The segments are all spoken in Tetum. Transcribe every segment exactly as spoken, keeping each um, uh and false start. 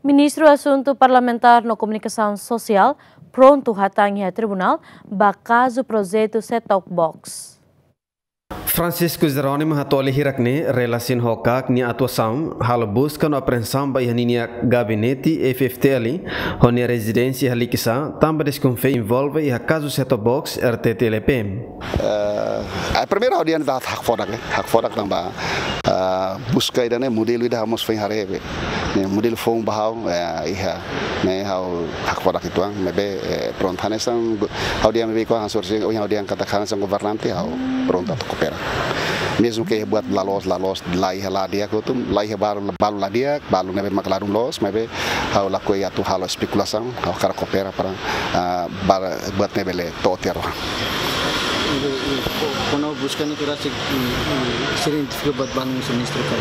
Ministru Asuntu Parlamentár no Komunikasaun Sosiál prontu hatán iha tribunál ba kazu projetu set-top box. Francisco Jerónimo hato'o hirak ne'e relasiona ho KAK nia atuasaun halo buska no apreensaun ba iha ninia gabinete F F T L ho nia rezidénsia iha Likisá, tanba deskonfia envolve iha kazu set-top box R T T L P. Eh, a primeira audiência da hakfodak, eh, hakfodak tanba, eh, buska ida-ne'e modelu ida ha'u mós foin haree be. Ne'e modelu foun ba ha'u, eh, iha, ne'e ha'u hakfodak uitoan, maibé, eh, prontu hanesan, ha'u dehan maibé ko hanesan, ohin ha'u dehan katak hanesan governante ha'u prontu atu koopera. Mezmu ke buat la loos, la loos, la iha la di'ak hotu, la iha balu, balu la di'ak, balu ne'ebé mak ladún loos, maibé ha'u lakohi atu halo espekulasaun, ha'u hakarak koopera para, ah, para buat ne'e bele to'o tiha ona. I, i, ko-, kona-ba buska ne'e kira si, i, i, sira identifika buat balu husi ministru ka?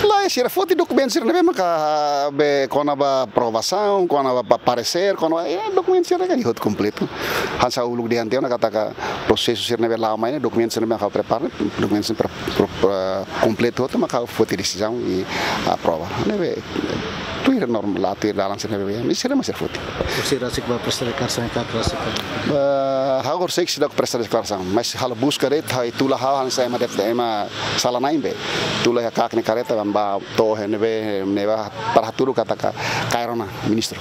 Lae, sira foti dokumentu sira ne'ebé maka, ah, be kona-ba aprovasaun, kona-ba pa-, paresér, kona-ba, eh, dokumentu sira ne'e hotu kompletu. Hanesan uluk dehan tiha ona katak prosesu sira ne'ebé la'o mai ne'e, dokumentu sira ne'ebé maka prepara, dokumentu sira pre-, pre-, pre-, kompletu hotu maka foti desizaun i aprova. Ne'ebé tuir norma, la tuir dalan sira ne'ebé, mi sira mós sira foti. Sira rasik ba presta deklarasaun ka rasik? Eh, ha'u horisehik seidauk presta deklarasaun, mas halo buska de'it, ha'u tula ha'u hanesan ema de'it, ema sala-na'in be. Tula iha KAK nia karreta, ba to'o iha ne'ebé, ne'ebá para hatudu katak kaer ona ministru.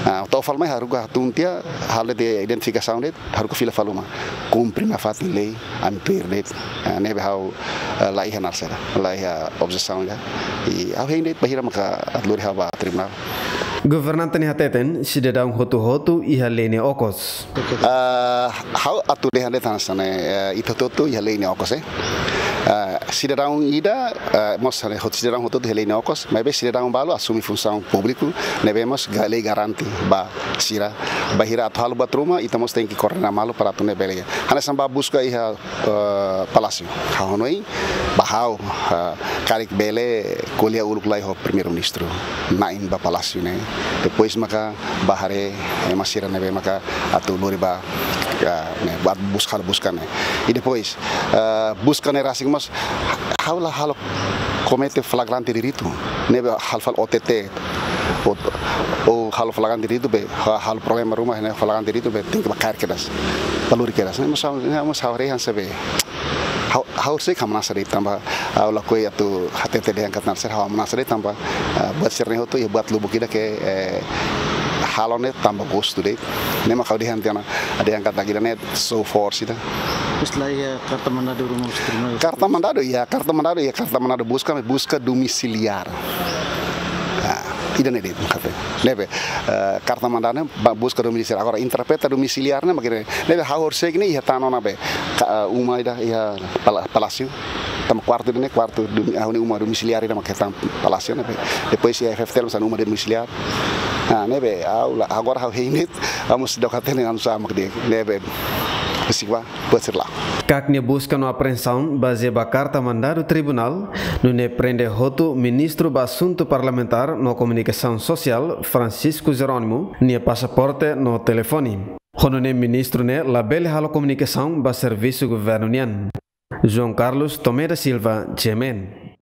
Ah, to'o fali mai haruka hatún tiha, halo de'it identifikasaun de'it, haruka fila fali uma. Kumpre nafatin lei, ami tuir de'it. Ah, ne'ebé ha'u, eh, la iha naran sira, la iha objesaun ida. I ha'u hein de'it bainhira maka atu lori ha'u ba tribunál. Governante nia hateten, sidadaun hotu-hotu iha lei nia okos. Ah, ha'u atu dehan de'it hanesan ne'e, eh, ita hotu-hotu iha lei nia okos, eh. Ah, sidadaun ida, eh, mós hanesan hotu sidadaun hotu-hotu iha lei nia okos, maibé sidadaun balu asume funsaun públiku, ne'ebé mós ga-, lei garante ba sira. Bainhira atu halo buat ruma, ita mós tenke koordena malu para atu ne'e bele. Hanesan ba buska iha, eh, Palásiu. Ha'u hanoin, ba ha'u, eh, karik bele ko'alia uluk lai ho Primeiru-Ministru na'in ba Palásiu ne'e. Depois maka ba haree ema sira ne'ebé maka atu lori ba, eh, ne'e, ba buska, halo buska ne'e. I depois, eh, buska ne'e rasik mós, ha'u la halo komete flagrante delito. Ne'ebé halo fali O T T. Ou, ou halo flagrante delito be, ha-, halo problema ruma, ne'e flagrante delito be, tenke ba kaer kedas. Ba lori kedas. Ne'e mós ha'u, ne'e mós ha'u haree hanesan be. Ha'u, ha'u horisehik ameasa de'it tanba, ha'u lakohi atu hatete dehan katak naran sira, ha'u ameasa de'it tanba, ah, buat sira-ne'e hotu, iha buat lubuk ida ke, eh, halo ne'e tanba gostu de'it. Ne'e mak ha'u dehan tiha ona, dehan katak ida-ne'e show force ida. Terus la iha karta mandadu ruma husi tribunál? Karta mandadu, iha karta mandadu, iha karta mandadu buska, maibé buska domisiliár. Ah, ida-ne'e de'it, kafe. Ne'ebé, eh, karta mandadu ne'e ba buska domisiliár. Agora, interpreta domisiliár ne'e mak ne'e. Ne'ebé ha'u horisehik ne'e iha tan ona be. Ka-, eh, uma ida iha pala-, Palásiu. Tanba kuartu ida-ne'e, kuartu domi-, ha'u-nia uma domisiliár ida mak iha tan Palásiu ne'ebé. Depois iha F F T L mós iha uma domisiliár. Ah, ne'ebé, ha'u la, agora ha'u hein de'it, ha'u mós seidauk hatene anu sá mak de'it. Ne'ebé, risik ba, buat sira la'o. KAK nia buska no apreensaun bazeia ba karta mandadu tribunál, nune'e prende hotu Ministru ba Asuntu Parlamentár no Komunikasaun Sosiál, Francisco Jerónimo, nia pasaporte no telefone. Ho nune'e ministru ne'e labele halo komunikasaun ba servisu governu nian. João Carlos Tomé da Silva, G M N.